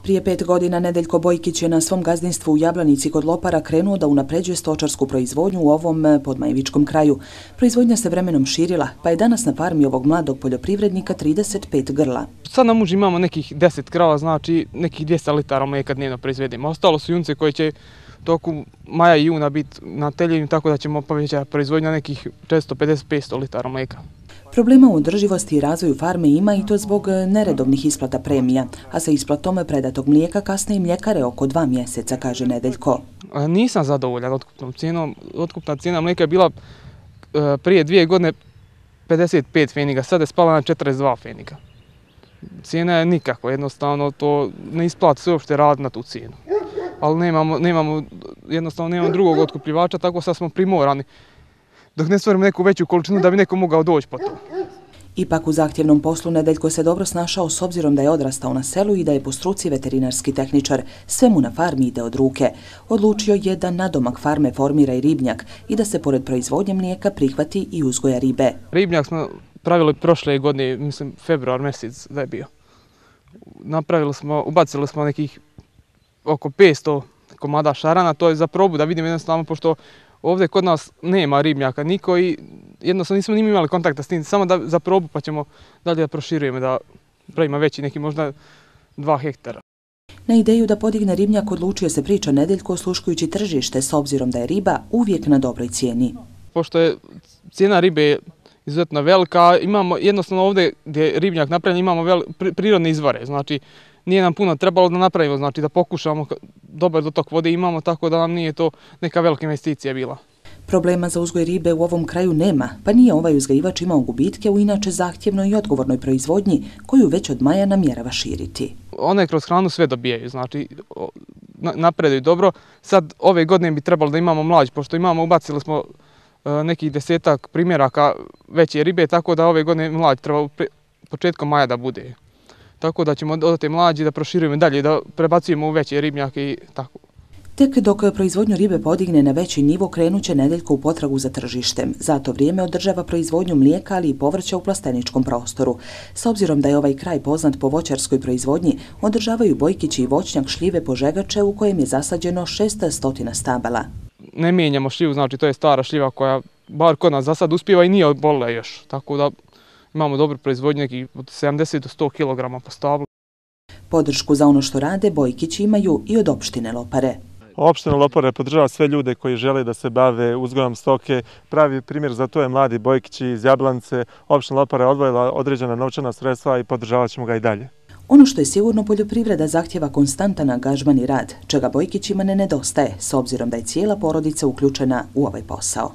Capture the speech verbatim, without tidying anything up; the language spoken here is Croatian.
Prije pet godina Nedeljko Bojkić je na svom gazdinstvu u Jablanici kod Lopara krenuo da unapređuje stočarsku proizvodnju u ovom podmajevičkom kraju. Proizvodnja se vremenom širila, pa je danas na farmi ovog mladog poljoprivrednika trideset pet grla. Sad na muži imamo nekih deset krava, znači nekih dvjesto litara mlijeka dnevno proizvedemo. Ostalo su junce koje će toku maja i juna biti na teljenju, tako da ćemo povećati proizvodnju nekih četiristo pedeset do petsto litara mlijeka. Problema u održivosti i razvoju farme ima i to zbog neredovnih isplata premija, a sa isplatom predatog mlijeka kasne i mljekare oko dva mjeseca, kaže Nedeljko. Nisam zadovoljan otkupnom cijenom. Otkupna cijena mlijeka je bila prije dvije godine pedeset pet feniga, sada je spala na četrdeset dva feniga. Cijena je nikako, jednostavno to ne isplati se uopšte raditi na tu cijenu. Ali nemamo, nemamo, jednostavno nemamo drugog otkupljivača, tako sad smo primorani dok ne stvorimo neku veću količinu da bi neko mogao doći po to. Ipak u zahtjevnom poslu Nedeljko se dobro snašao s obzirom da je odrastao na selu i da je po struci veterinarski tehničar. Sve mu na farmi ide od ruke. Odlučio je da nadomak farme formira i ribnjak i da se pored proizvodnje mlijeka prihvati i uzgoja ribe. Ribnjak smo pravili prošle godine, mislim februar mjesec da je bio. Napravili smo, ubacili smo nekih oko petsto komada šarana, to je za probu da vidimo jednostavno, pošto ovdje kod nas nema ribnjaka niko i jednostavno nismo ni imali kontakta s tim, samo da, za probu pa ćemo dalje da proširujemo, da pravimo veći, neki možda dva hektara. Na ideju da podigne ribnjak odlučio se priča Nedeljko osluškujući tržište s obzirom da je riba uvijek na dobroj cijeni. Pošto je cijena ribe izuzetno velika, imamo jednostavno ovdje gdje je ribnjak napravljen imamo vel, prirodne izvore, znači nije nam puno trebalo da napravimo, znači da pokušamo dobar dotok vode imamo, tako da nam nije to neka velika investicija bila. Problema za uzgoj ribe u ovom kraju nema, pa nije ovaj uzgajivač imao gubitke u inače zahtjevnoj i odgovornoj proizvodnji koju već od maja namjerava širiti. One kroz hranu sve dobijaju, znači napreduju dobro. Sad ove godine bi trebalo da imamo mlađ, pošto imamo, ubacili smo nekih desetak primjeraka veće ribe, tako da ove godine mlađ treba početkom maja da bude. Tako da ćemo dodati mlađi, da proširujemo dalje, da prebacujemo u veće ribnjake i tako. Tek dok proizvodnju ribe podigne na veći nivo, krenut će Nedeljko u potragu za tržištem. Za to vrijeme održava proizvodnju mlijeka, ali i povrća u plasteničkom prostoru. S obzirom da je ovaj kraj poznat po voćarskoj proizvodnji, održavaju Bojkići i voćnjak šljive Požegače u kojem je zasađeno šesnaest stabala. Ne mijenjamo šljivu, znači to je stara šljiva koja bar kod nas za sad uspijeva i nije obolila još, tako da imamo dobru proizvodnju, nekih od sedamdeset do sto kilograma po stablu. Podršku za ono što rade Bojkići imaju i od opštine Lopare. Opština Lopare podržava sve ljude koji žele da se bave uzgojom stoke. Pravi primjer za to je mladi Bojkić iz Jablanice. Opština Lopare je odvojila određena novčana sredstva i podržavat ćemo ga i dalje. Ono što je sigurno, poljoprivreda zahtjeva konstantan angažman i rad, čega Bojkićima ne nedostaje, s obzirom da je cijela porodica uključena u ovaj posao.